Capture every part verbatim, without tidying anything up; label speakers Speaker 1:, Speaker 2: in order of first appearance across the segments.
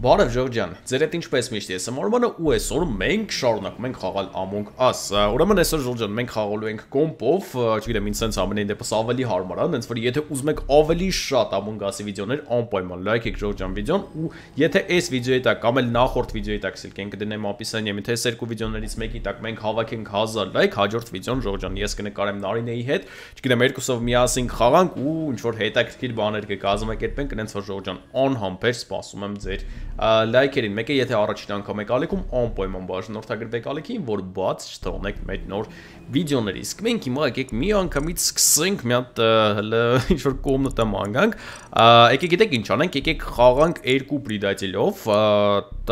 Speaker 1: Բարև Ժորժյան, ձեր հետ ինչպես միշտ ես եմ Արմանը ու այսօր մենք շարունակում ենք խաղալ Among Us։ Ուրեմն այսօր Ժորժյան մենք խաղալու ենք կոմպով, չգիտեմ ինձ sense ամենայն դեպս ավելի հարմար է, հենց որ եթե ուզում եք ավելի շատ Among Us-ի վիդեոներ, անպայման լայքեք Ժորժյան վիդեոն ու եթե այս վիդեոյի տակ կամ էլ նախորդ վիդեոյի տակ սլինք կդնեմ описанием, թե այս երկու վիդեոներից մեկի տակ մենք հավաքենք հազար լայք, հաջորդ վիդեոն Ժորժյան ես կնկարեմ Նարինեի հետ, չգիտեմ երկուսով միասին խաղանք ու ինչ որ հետաքրքիր բաներ կկազմակերպենք, այնց որ Ժորժյան անհամբեր սպասում եմ ձեր լայքերին, մեկը եթե առաջին անգամ եք ալիքում, անպայման բաժանորդագրվեք ալիքին, որ բաց չթողնեք մեր նոր վիդեոների։ Իսկ մենք հիմա եկեք մի անգամից սկսենք մի հատ հələ ինչ-որ կոմնատը մանգանք։ Եկեք գիտեք ինչ անենք, եկեք խաղանք երկու պրիդատելով,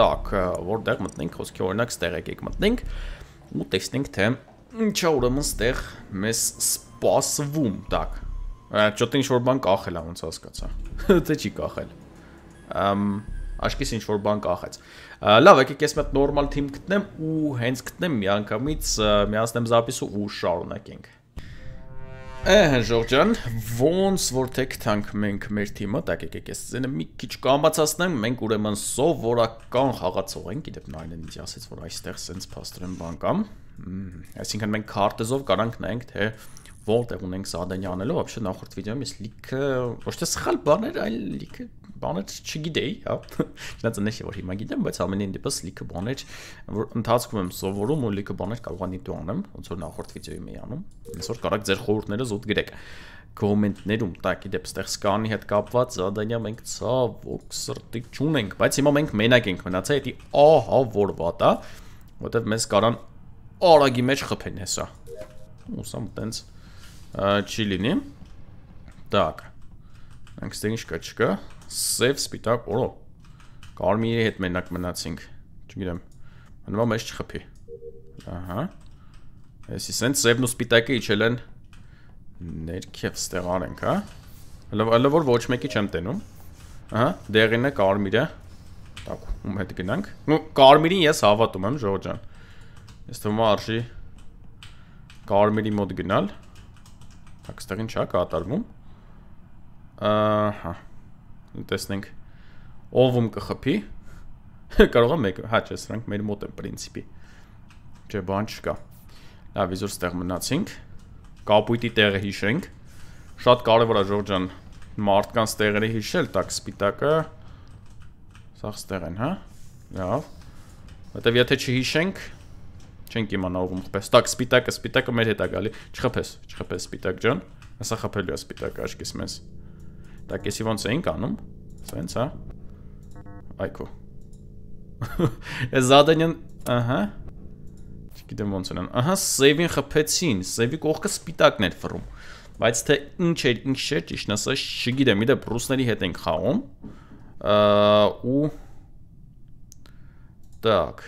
Speaker 1: տակ, որտեղ մտնենք, խոսքի օրինակ ստեղ եկեք մտնենք ու տեսնենք թե ինչա ուրեմն ստեղ մեզ սպասվում, տակ։ Ճոտ ինչ-որ բան կախել է, ոնց հասկացա։ Թե չի կախել։ Ամ Աշկիս ինչ-որ բան կախեց։ Լավ, եկեք ես մի հատ նորմալ թիմ գտնեմ ու հենց գտնեմ միանգամից միացնեմ զապիսը ու շարունակենք։ Էհ, Ժորժյան, ոնց որ թե գտանք մենք մեր թիմը, տակ եկեք ես ձենը մի քիչ կամացացնեմ, մենք ուրեմն սովորական խաղացող ենք, գիտեք նայեն ինձ ասեց, որ այստեղ սենց փաստորեն բան կամ։ Այսինքն մենք քարտեզով կարանք նայենք, թե որտեղ ունենք զադանի անելու, вообще նախորդ վիդեոյում ես լիքը ոչ թե սխալ բաներ, այլ լիքը բաներ չգիտեի, հա։ Չնայած նշի որ հիմա գիտեմ, բայց ամենին դեպս լիքը բաներ, որ ընթացքում եմ սովորում ու լիքը բաներ կարող եմ դու անեմ, ոնց որ նախորդ վիդեոյում էի անում։ Այսօր կարաք ձեր խորհուրդները զուտ գրեք կոմենտներում, տակի դեպ ստեղ սկանի հետ կապված զադանիա մենք ցավոք սրտի չունենք, բայց հիմա մենք մենակ ենք մնացա, դա ահա որ վատ է, որտեվ մեզ կարան արագի մեջ խփեն հեսա։ Ուսամ տենց չի լինի։ Так. Մենք ստեղ ինչ կա չկա։ Սև սպիտակ, օրո։ Կարմիրի հետ մենակ մնացինք։ Չգիտեմ։ Հնվա մեզ չխփի։ Ահա։ Այսի սենց սևն ու սպիտակը իջել են ներքև ստեղ արենք, հա։ Հələ որ ոչ մեկի չեմ տենում։ Ահա, դեղին է կարմիրը։ Так, ում հետ գնանք։ Ну, կարմիրին ես հավատում եմ, Ժորժյան։ Ես թվում է արժի կարմիրի մոտ գնալ։ Так, ստեղ ինչ է կատարվում։ Ահա։ Տեսնենք ով ում կխփի։ Կարող է մեկը, հա, չէ, սրանք մեր մոտ են պրինցիպի։ Չէ, բան չկա։ Լավ, իզուր ստեղ մնացինք։ Կապույտի տեղը հիշենք։ Շատ կարևոր է Ժորժյան մարդկանց տեղերը հիշել, так, սպիտակը սաղ ստեղ են, հա։ Լավ։ Որտեվ եթե չհիշենք, չենք իմանա ով ում խփես։ Так, սպիտակը, սպիտակը մեր հետ է գալի։ Չխփես, չխփես սպիտակ ջան։ Հեսա խփելու է սպիտակը աշկիս մեզ։ Так, եսի ոնց էինք անում, սենց, հա, այքո, ես զադենյան, ահա, չգիտեմ ոնց են, ահա, սևին խպեցին, սևի կողքը սպիտակն էր վռում, բայց թե ինչ էր, ինչ չէր, ճիշտ ասած, չգիտեմ, իդեպ ռուսների հետ ենք խաղում, ու, так,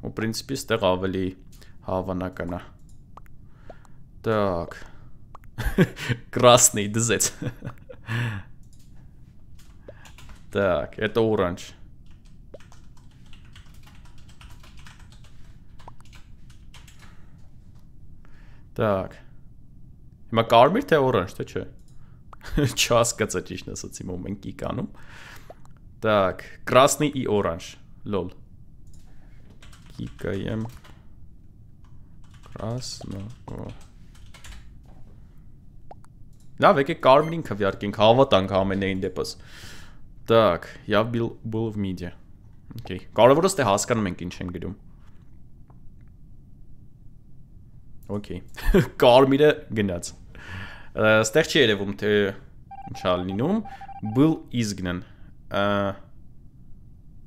Speaker 1: ու պրինցիպի ստեղ ավելի հավանական է, так, красный дզեց, Так, это оранж. Так. Հիմա կարմիր թե օրանջ, թե չէ։ Չհասկացա ճիշտ ասած հիմա մենք ի կանում։ Так, красный и оранж. Лол. Կիկայեմ красно. Լավ, եկեք կարմիրին քվյարկենք, հավատանք ամենայն դեպս։ Так, я был был в миде. Окей. Կարևորը ստե հասկանում ենք ինչ են գրում։ Окей. Կարմիրը գնաց։ Ստեղ չի երևում թե ինչ է լինում։ Был изгнан.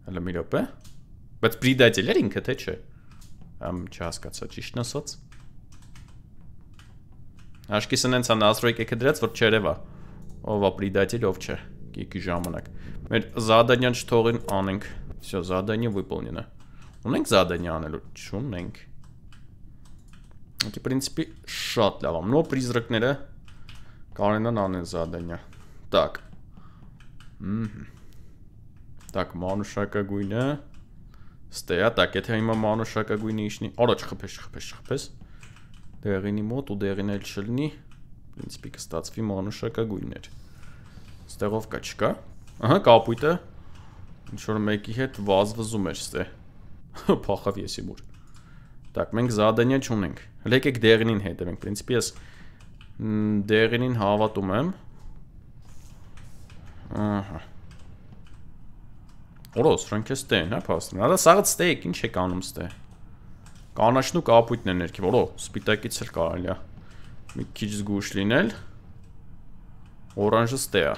Speaker 1: Հələ մի րոպե։ Բայց предатель էր ինքը թե չէ։ Ամ չհասկացա ճիշտ ասած։ Աշկիսն հենց անասրոյք եկե դրած, որ չերևա, ով է предатель, ով չէ, կիկի ժամանակ։ Մեր զադանյան չթողին անենք, всё, задание выполнено։ Ունենք զադանի անելու, չունենք։ Ակի պրինցիպի շատ լավ ամ, նո պրիզրակները կարենան անեն զադանյա։ Так, Так, մանուշակագույնը, ստեյա, так, եթե հիմա մանուշակագույնը իշնի, առաջ խպես, խպես, խպես։ Դեղինի մոտ ու դեղին էլ չլնի, պրինցիպի կստացվի մանուշակագույններ։ Ստեղով կա չկա։ Ահա կապույտը, Ինչ-որ մեկի հետ վազվզում էր ստե։ Փախավ եսի մուր։ Так, մենք զադանյա չունենք։ Հələ եկեք դեղինին հետևենք, պրինցիպի ես դեղինին հավատում եմ։ Ահա։ Օրոս, ֆրանք է ստեն, հա, փաստորեն։ Արա սաղդ ստեյք, ինչ եք անում ստե։ Կանաչն ու կապույտն են ներքև, օրո, սպիտակից էլ կարելի է։ Մի քիչ զգուշ լինել։ Օրանժը ստե է։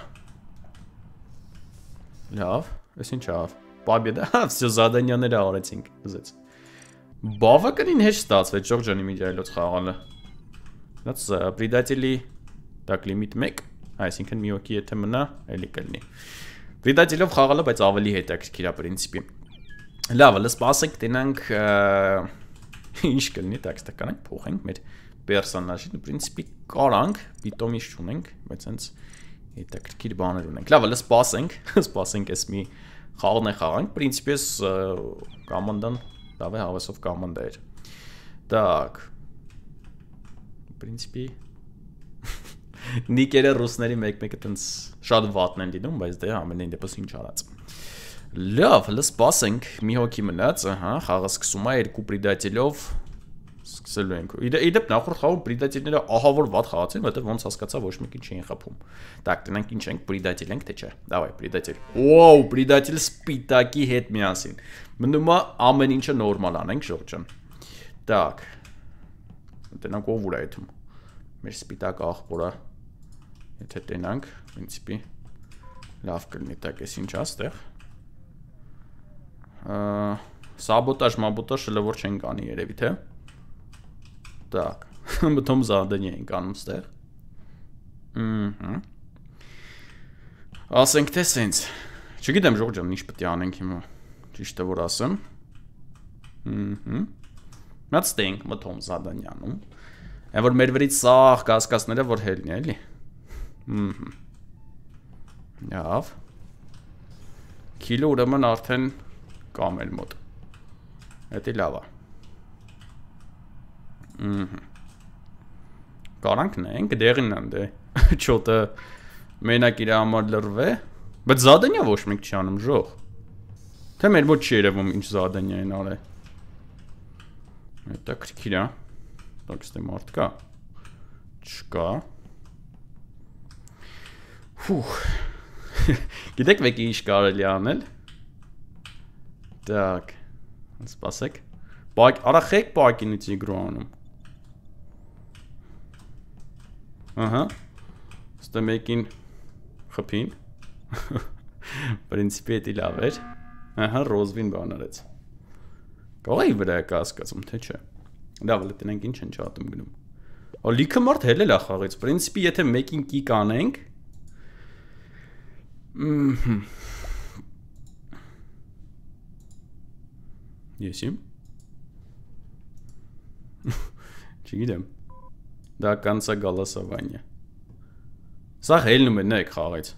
Speaker 1: Լավ, ես ինչ ավ։ Պաբեդա, всё զադանյաները արեցինք, ուզեց։ Բավականին հեշտ ստացվեց Ժորժանի միջայլոց խաղալը։ That's предатели так лимит մեկ, այսինքն մի օքի եթե մնա, էլի կլինի։ Предателով խաղալը, բայց ավելի հետաքրքիր է պրինցիպի։ Լավ, լսպ ասենք տենանք ինչ կլինի, տեքստը կանենք, փոխենք մեր պերսոնաժին, պրինցիպի կարանք, պիտոմ ինչ չունենք, բայց հենց հետաքրքիր բաներ ունենք։ Լավ, լսպ ասենք, սպասենք էս մի խաղն է խաղանք, պրինցիպի ես կամանդան լավ է հավեսով կամանդա էր։ Так, պրինցիպի նիկերը ռուսների մեկ-մեկը տենց շատ վատն են լինում, բայց դե ամենայն դեպս ինչ արած։ Լավ, հələ սպասենք, մի հոգի մնաց, ահա, խաղը սկսում է երկու պրիդատելով սկսելու ենք։ Իդեպ նախորդ խաղում պրիդատիլները ահա որ վատ խաղացին, որտեղ ոնց հասկացա ոչ մեկին չէին խփում։ Так, տնենք ինչ ենք, պրիդատիլ ենք, թե չէ։ Դավայ, պրիդատիլ։ Ոու, պրիդատիլ սպիտակի հետ միասին։ Մնում է ամեն ինչը նորմալ անենք, Ժորժան։ Так։ Տնենք ով ուր է այդում։ Մեր սպիտակ աղբորը եթե տենանք, պրինցիպի լավ կլինի, так, ես ինչ աստեղ։ Սաբոտաժ, մաբոտաժ շլը որ չենք անի երևի, թե։ Так, մտում զադենի ենք անում ստեղ։ Ասենք թե սենց։ Չգիտեմ Ժորժան, ինչ պետք է անենք հիմա, ճիշտը որ ասեմ։ Մած ստենք մտում զադենյանում։ Այն որ մեր վրից սաղ կասկածները որ հելնի, էլի։ Լավ։ Քիլո ուրեմն արդեն կամ էլ մոտ։ Էդի լավ է։ Կարանք նենք, դեղին են դե, չոտը մենակ իր համար լրվ է, բայց զադենյա ոչ մենք չի անում ժող, թե մեր ոչ չի երևում ինչ զադենյա են արե, հետա կրքիր է, տակ ստե մարդ կա, չկա, հուխ, գիտեք վեկի ինչ կարելի անել, տակ, սպասեք, արա խեք պակինից իգրու անում, ահա, ստե մեկին խպին, պրինցիպի էտի լավ էր, ահա ռոզվին բան արեց, կողայի վրա է կասկածում, թե չէ, լավ լտնենք ինչ են չատում գնում, o լիքը մարդ հելել է խաղից, պրինցիպի եթե մեկին կիկ անենք, եսիմ, չգիտեմ, դա կանցա գալասավանյա, սաղ հելնում է նեք խաղից,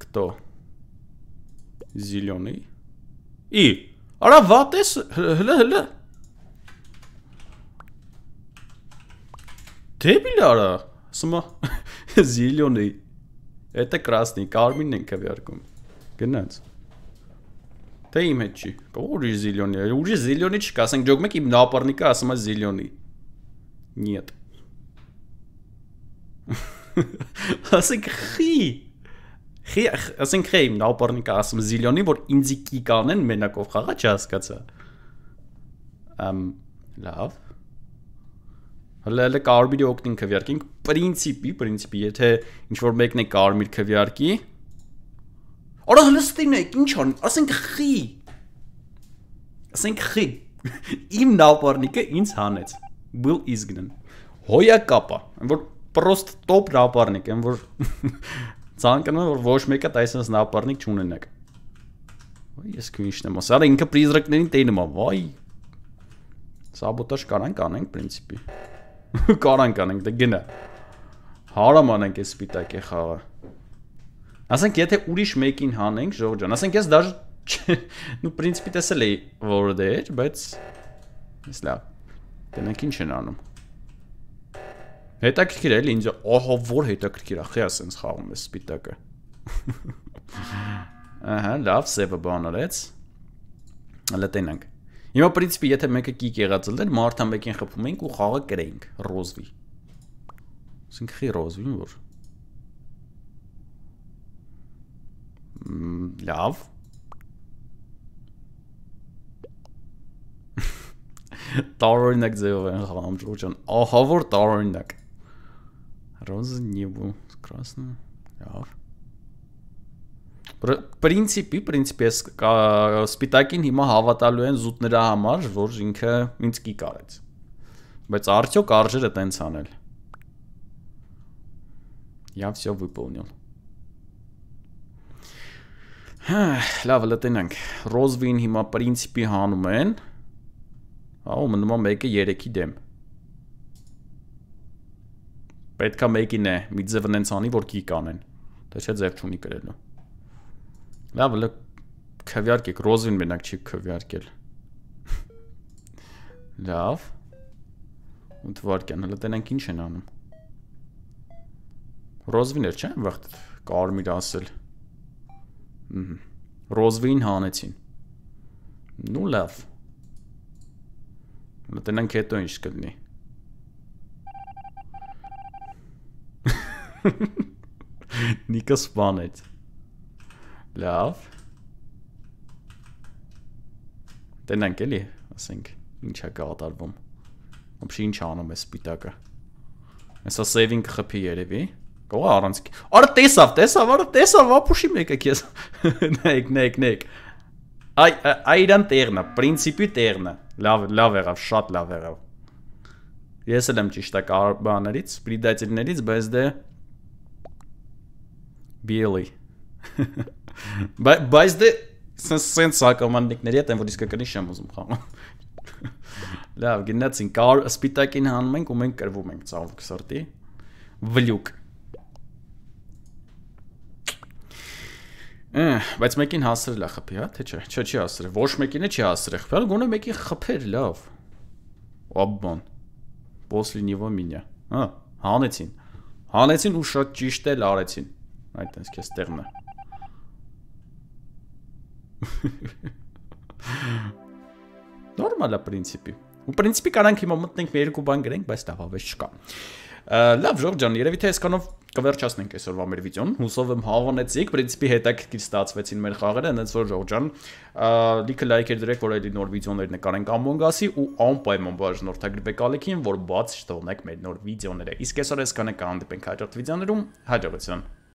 Speaker 1: կտո, զիլյոնի, ի, արա վատ ես, հլը հլը, դեբիլ արա, սմա, զիլյոնի, էտը կրասնի, կարմինն են կվյարկում, գնաց, թե իմ հետ չի, ուրի զիլյոնի, ուրի զիլյոնի չկա, ասենք ջոգ մեկ իմ նապարնիկը ասում է զիլյոնի, նիետ, ասենք խի, ասենք խի իմ նապարնիկը ասում զիլյոնի, որ ինձի կիկ անեն մենակով խաղա չհասկացա, լավ, հլը հլը կարմիրի օգնին կվյարկենք, պրինցիպի, պրինցիպի, եթե ինչ-որ մեկն է կարմիր կվյարկի, արա հլստին եք, ինչ ան, ասենք խի, ասենք խի, իմ նապարնիկը ինձ հանեց, բլ իզգնն, հոյա կապա, որ պրոստ տոպ նապարնիկ, եմ որ ծանկնում որ ոչ մեկը տայսնս նապարնիկ չունենակ, ես քու ինչն եմ ասա, արա ինքը պրիզրակներին տենում է, վայ, սաբոտաժ կարանք անենք պրինցիպի, կարանք անենք, դե գնա, հարամ անենք ես սպիտակ է խաղը, ասենք եթե ուրիշ մեկին հանենք Ժորժան, ասենք ես դաժ, նու պրինցիպի տեսել էի որը դե էր, բայց, ես լավ, տնենք ինչ են անում, Հետաքրքիր էլի ինձ ահա որ հետաքրքիր է, խի ասենց խաղում է սպիտակը։ Ահա, լավ, սևը բան արեց։ Հələ տենանք։ Հիմա պրինցիպի եթե մեկը կիկ եղած լներ, մարդա մեկին խփում էինք ու խաղը կրեինք, ռոզվի։ Ասենք խի ռոզվին որ։ Լավ։ Տարօրինակ ձևով են խաղում Ջորջան։ Ահա որ տարօրինակ։ Ռոզը նիբու, красный, լավ։ Պրինցիպի, պրինցիպի սպիտակին հիմա հավատալու են զուտ նրա համար, որ ինքը ինձ կիկ արեց։ Բայց արդյոք արժեր է տենց անել։ Я всё выполнил։ Լավ, լտենանք։ Ռոզվին հիմա պրինցիպի հանում են։ Ահա մնում է մեկը երեքի դեմ։ Պետքա մեկին է, մի ձև նենց անի, որ կիկ անեն։ Դա չէ ձև չունի կրելու։ Լավ, լը քվյարկեք, ռոզվին մենակ չի քվյարկել։ Լավ։ ու թվարկյան, հələ տենանք ինչ են անում։ Ռոզվին էր, չէ՞, վաղ կարմիր ասել։ Ռոզվին հանեցին։ Ну լավ։ Հələ տենանք հետո ինչ կլինի։ Նիկը սպանեց։ Լավ։ Տենանք էլի, ասենք, ինչ է կատարվում։ Ոբշի ինչ անում է սպիտակը։ Հեսա սեյվինգ խփի երևի։ Կողա առանց։ Արա տեսավ, տեսավ, արա տեսավ, ապուշի մեկը քեզ։ Նայեք, նայեք, նայեք։ Այ այրան տեղն է, պրինցիպի տեղն է։ Լավ, լավ եղավ, շատ լավ եղավ։ Ես էլ եմ ճիշտ է բաներից, պրիդատիրներից, բայց դե Բիելի։ Բայց դե սենց սակոմաննիկների հետ են, որ իսկականի շեմ ուզում խաղում։ Լավ, գնացին, սպիտակին հանում ենք ու մենք կրվում ենք ծավուկ սրտի։ Վլյուկ։ Բայց մեկին հասրել է խփի, հա, թե չէ, չէ, չի հասրել, ոչ մեկին է չի հասրել խփել, գոնե մեկին խփեր, լավ։ Աբբան, после него меня, հա, հանեցին, հանեցին ու շատ ճիշտ էլ արեցին, այդ տենց կես տեղն է։ Նորմալ է պրինցիպի, ու պրինցիպի կարանք հիմա մտնենք մի երկու բան գրենք, բայց լավ ավեշ չկա։ Լավ, Ժորժ ջան, երևի թե այսքանով կվերջացնենք այսօրվա մեր վիդեոն, հուսով եմ հավանեցիք, պրինցիպի հետաքրքիր ստացվեցին մեր խաղերը, հենց որ Ժորժ ջան, լիքը լայքեր դրեք, որ այդի նոր վիդեոներ նկարենք Among Us-ի ու անպայման բաժանորդագրվեք ալիքին, որ բաց չթողնեք մեր նոր վիդեոները։ Իսկ այսօր այսքանը կհանդիպենք հաջորդ վիդեոներում, հաջողություն։